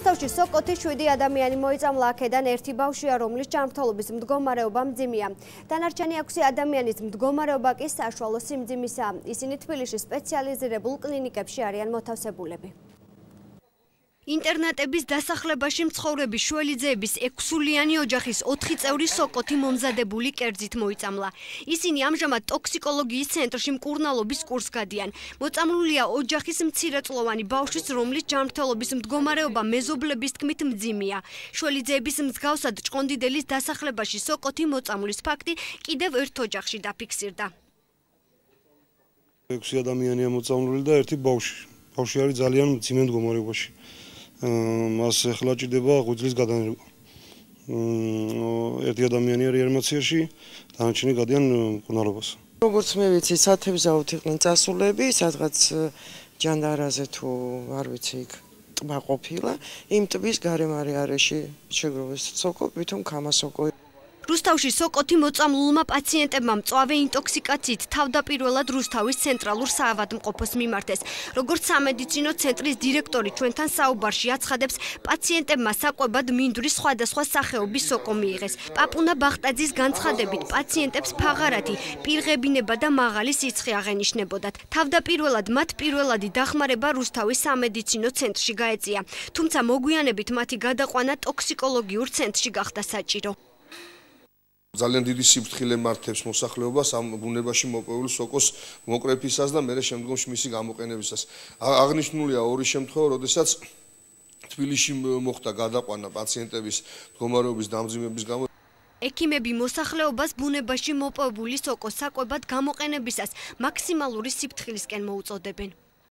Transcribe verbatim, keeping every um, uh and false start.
რუსთავში სოკოთი შვიდი ადამიანი მოიწამლა, აქედან ერთი ბავშვია, რომლის ჯანმრთელობის მდგომარეობა მძიმეა. დანარჩენი ექვსი ადამიანის მდგომარეობა კი საშუალო სიმძიმისაა. ისინი თბილისის სპეციალიზირებულ კლინიკებში არიან მოთავსებულები. ინტერნატების დასახლებაში მცხოვრები შველიძეების ექვსულიანი ოჯახის ოთხი წევრი სოკოთი მომზადებული კერძით მოიწამლა. ისინი ამჟამად ტოქსიკოლოგიის ცენტრში მკურნალობის კურსს გადიან. მოწამლულია ოჯახის მცირეწლოვანი ბავშვის, რომლის ჯანმრთელობის მდგომარეობა მეზობლების თქმით მძიმეა. შველიძეების მსგავსად ჭყონდიდელის დასახლებაში სოკოთი მოწამვლის ფაქტი კიდევ ერთ ოჯახში დაფიქსირდა. ექვსი ადამიანია მოწამლული და ერთი ბავშვი. ბავშვი არის ძალიან მძიმე მდგომარეობაში. მას ახლა ჭირდება ღვიძლის გადანერგვა. ერთი ადამიანი არის რეანიმაციაში, დანარჩენი გადიან მკურნალობას. როგორც მე ვიცი, სათევზაოდ იყვნენ წასულები, სადღაც ჯანდარაზე თუ არ ვიცი, იქ ტბა ყოფილა. იმ ტბის გარემარე არეში შეგროვეს სოკო, ვითომ ქამასოკო. რუსთავში სოკოთი მოწამლულმა პაციენტებმა მწვავე ინტოქსიკაციით თავდაპირველად რუსთავის ცენტრალურ საავადმყოფოს მიმართეს. როგორც სამედიცინო ცენტრის დირექტორი ჩვენთან საუბარში აცხადებს, პაციენტებმა საკვებად მინდვრის სხვადასხვა სახეობის სოკო მიიღეს. პაპუნა ბახტაძის განცხადებით, პაციენტებს ფაღარათი, პირღებინება და მაღალი სიცხე აღენიშნებოდათ. თავდაპირველად მათ პირველადი დახმარება რუსთავის სამედიცინო ცენტრში გაეწია, თუმცა მოგვიანებით მათი გადაყვანა ტოქსიკოლოგიურ ცენტრში გახდა საჭირო. ძალიან დიდი სიფრთხილე მართებს მოსახლეობას ამ ბუნებაში მოპოვებული სოკოს მოკრეფისას და მერე შემდგომში მისი გამოყენებისას. აღნიშნულია ორი შემთხვევა, როდესაც თბილისში მოხდა გადაყვანა პაციენტების მდგომარეობის დამძიმების გამო. ექიმები მოსახლეობას ბუნებაში მოპოვებული სოკოს საკვებად გამოყენებისას მაქსიმალური სიფრთხილისკენ მოუწოდებენ.